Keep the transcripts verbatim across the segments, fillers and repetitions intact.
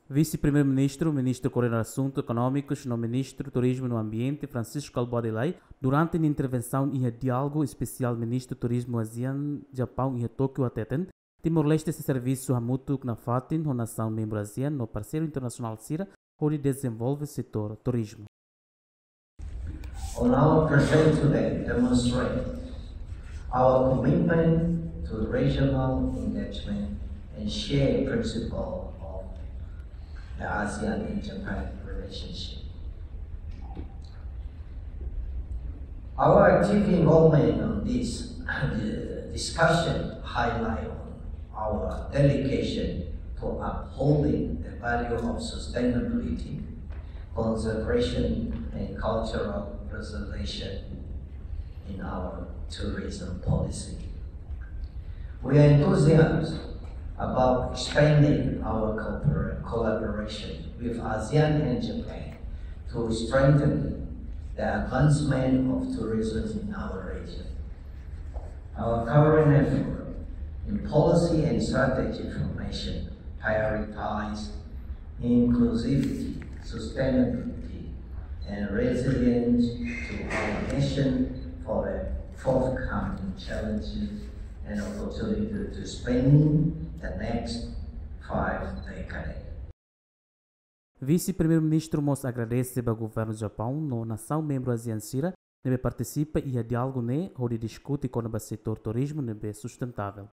Vise-Primeiru-Ministru, Ministru Koordenadór Asuntu Ekonómikus no Ministru Turizmu no Ambiente, Francisco Kalbuadi Lay, durante nia intervensaun iha diálogu espesiál Ministru Turizmu ASEAN Japaun iha Tókiu hateten, Timor-Leste sei servisu hamutuk nafatin ho nasaun membru ASEAN no parseiru internasionál sira hodi dezenvolve setór turizmu. On our present today demonstrate our commitment to regional engagement and share principle of the ASEAN and Japan relationship. Our active involvement on this discussion highlight our dedication to upholding the value of sustainability, conservation, and cultural preservation in our tourism policy. We are enthusiastic about expanding our cooper-, collaboration with ASEAN and Japan to strengthen the advancement of tourism in our region. Our current effort in policy and strategy formation prioritize inclusivity, sustainability, and resilience to our nation for the forthcoming challenges and opportunity to spanning the next five decades. Vise-Primeiru-Ministru mós agradese ba Governu Japaun no nasaun membru ASEAN sira ne'ebé partisipa iha diálogu ne'e hodi diskute kona-ba setór turizmu ne'ebé sustentável.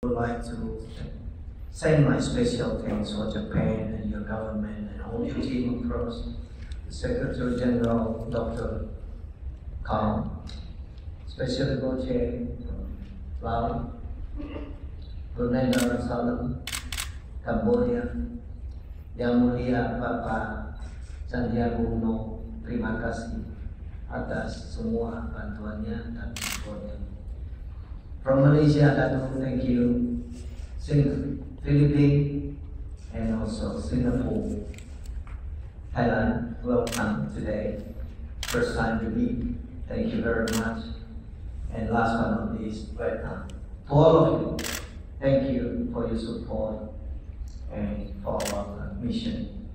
I would like to send my special thanks for Japan and your government and all your team across, the Secretary General, Doctor Kang, Special Envoy from Laos, Brunei Darussalam, Cambodia, Yang Mulia Bapak Santiago Uno, terima kasih atas semua bantuannya dan supportnya. From Malaysia, Datuk, thank you. Sing-, Philippines, and also Singapore. Thailand, welcome today. First time to meet. Thank you very much. And last but not least, Vietnam. To all of you, thank you for your support and for our mission.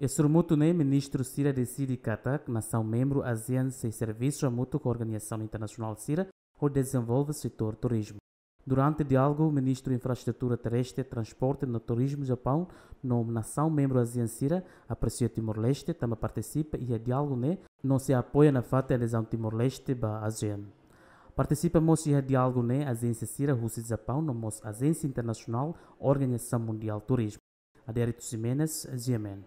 Iha sorumutu ne'e, ministru sira deside katak nasaun membru ASEAN sei servisu hamutuk ho organizasaun internasionál sira hodi dezenvolve setór turizmu. Durante diálogu, Ministru Infraestrutura Terrestre, Transporte no Turizmu Japaun no nasaun membru ASEAN sira apresia Timor-Leste tanba partisipa iha diálogu ne'e no sei apoia nafatin adezaun Timor-Leste ba ASEAN. Partisipa mós iha diálogu ne'e ajénsia sira husi Japaun no mós ajénsia internasionál Organizasaun Mundiál Turizmu. Adérito Ximenes, G M N.